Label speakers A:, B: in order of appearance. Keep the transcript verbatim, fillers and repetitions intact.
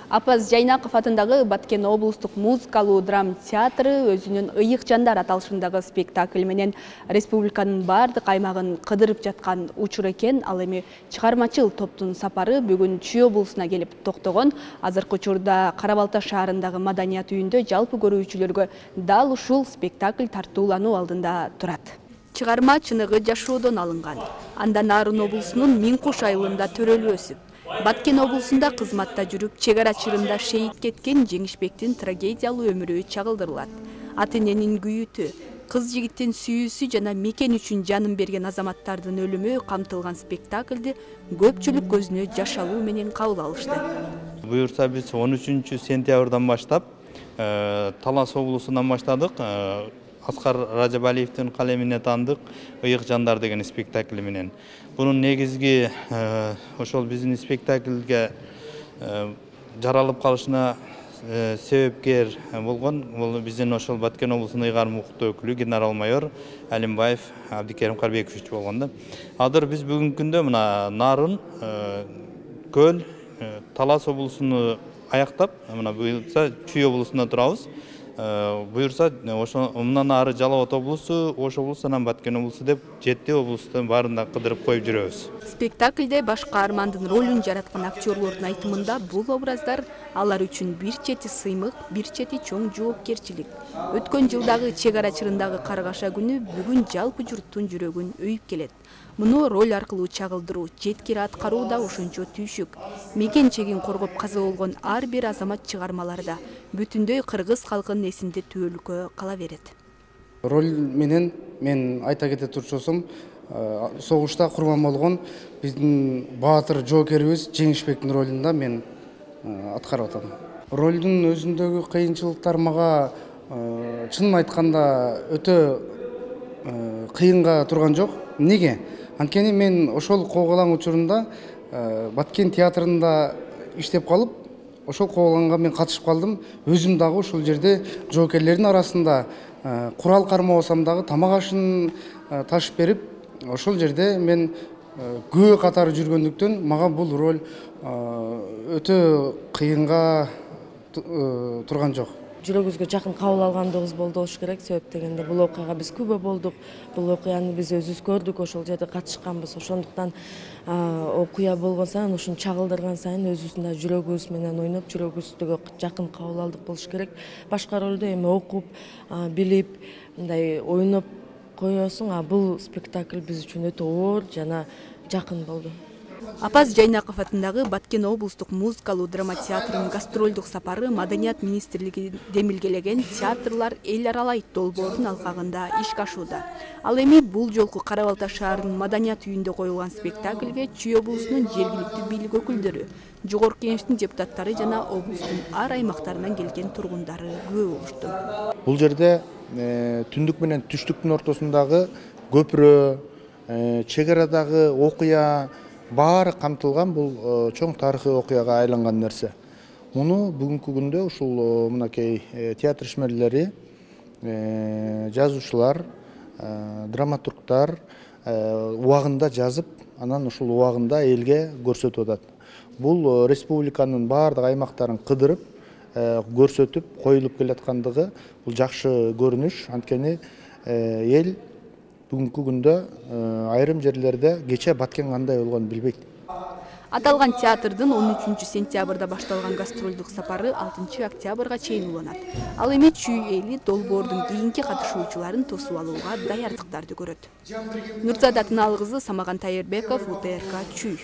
A: Апаз Жайнаков атындагы Баткен облустук музыкалуу драма театры өзүнүн «Ыйык жандар» аталышындагы спектакль менен республиканын бардык аймагын кыдырып жаткан учур экен. Ал эми чыгармачыл топтун сапары бүгүн Чүй облусуна келип токтогон. Азыркы учурда Кара Балта шаарындагы маданият үйүндө жалпы көрүүчүлөргө дал ушул спектакль тартуулануу алдында турат. Чыгарма чыныгы жашоодон алынган. Андан Нарын облусунун Миң Куш айылында төрөлүп өсүп, Баткен облусунда кызматта жүрүп, чек ара чырында шейит кеткен Жеңишбектин трагедиялуу өмүрү чагылдырылат. Ата эненин күйүтү, кыз жигиттин сүйүүсү жана мекен үчүн жанын берген азаматтардын өлүмү камтылган спектакльди көпчүлүк көзүнө жашалуу менен кабыл алышты.
B: Буюрса биз он үчүнчү сентябрдан баштап Талас облусунан баштадык. Аскар Ражабалиевдин калемине таандык «Ыйык жандар» деген спектакль менен. Бунун негизги ошол биздин спектакльге жаралып калышына себепкер болгон бул биздин ошол Баткен облусунун ыйгарым укуктуу өкүлү генерал-майор Алимбаев Абдикерим Карбекович болгон да. Азыр биз бүгүнкү күндө мына Нарын, Көл, Талас облусуну аяктап, мына буюрса Чүй облусунда турабыз. Буюрса ошо мындан ары Жалал Абад облусу, Ош облусу, анан Баткен облусу деп жети облустун баарында кыдырып коюп жүрөбүз.
A: Спектакльде баш каармандын ролун жараткан актерлордун айтымында бул образдар алар үчүн бир чети сыймык, бир чети чоң жоопкерчилик. Өткөн жылдагы чек ара чырындагы Каргаша күнү бүгүн жалпы журттун жүрөгүн өйүп келет. Муну роль аркылуу чагылдыруу, жеткири аткаруу да ошончо түйшүк. Мекен чегин коргоп каза болгон ар бир азамат чыгармаларда бүтүндөй кыргыз калкынын эсинде түбөлүккө кала берет.
C: Роль менен мен айта кете турчусум, согушта курман болгон биздин баатыр жоокерибиз Жеңишбектин ролунда мен аткарып атам. Ролдун өзүндөгү кыйынчылыктар мага чынын айтканда өтө кыйынга турган жок. Неге? Анткени мен ошол коогалаң учурунда Баткен театрында иштеп калып, ошол коогалаңга мен катышып калдым. Өзүм дагы ошол жерде жоокерлердин арасында курал кармабасам дагы тамак ашын ташып берип, ошол жерде мен күбө катары жүргөндүктөн мага бул роль өтө кыйынга турган жок.
D: Жүрөгүбүзгө жакын кабыл алгандыгыбыз болду болуш керек. Себеп дегенде бул окуяга биз күбө болдук. Бул окуяны биз өзүбүз көрдүк, ошол жерде катышканбыз. Ошондуктан окуя болгон сайын, ушуну чагылдырган сайын өзүбүздүн жүрөгүбүз менен ойноп, жүрөгүбүзгө жакын кабыл алдык болуш керек. Башка ролду эми окуп, билип, мындай ойноп коесуң, а бул спектакль биз үчүн өтө оор жана жакын болду.
A: Апаз Жайнаков атындагы Баткен облустук музыкалуу драма театрынын гастролдук сапары Маданият министрлиги демилгелеген театрлар эл аралайт долбоордун алкагында ишке ашууда. Ал эми бул жолку Кара Балта шаарынын Маданият үйүндө коюлган спектакльге Чүй облусунун жергиликтүү бийлик өкүлдөрү, жогорку кеңештин депутаттары жана облустун ар аймактарынан келген тургундары күбө болушту.
E: Бул жерде түндүк менен түштүктүн ортосундагы көпүрө, чек арадагы окуя баары камтылган бул чоң тарыхый окуяга айланган нерсе. Муну бүгүнкү күндө ушул мынакей театр ишмерлери, жазуучулар, драматургтар убагында жазып, анан ушул убагында элге көрсөтүп атат. Бул республиканын баардык аймактарын кыдырып, көрсөтүп, коюлуп келаткандыгы бул жакшы көрүнүш. Анткени эл бүгүнкү күндө айрым жерлерде кече Баткен кандай болгонун билбейт.
A: Аталган театрдын он үчүнчү сентябрда башталган гастролдук сапары алтынчы октябрга чейин уланат. Ал эми Чүй эли долбоордун кийинки катышуучуларын тосуп алууга даярдыктарды көрөт. Нурзада Тыналкызы, Самаган Тайырбеков, У Т Р К, Чүй.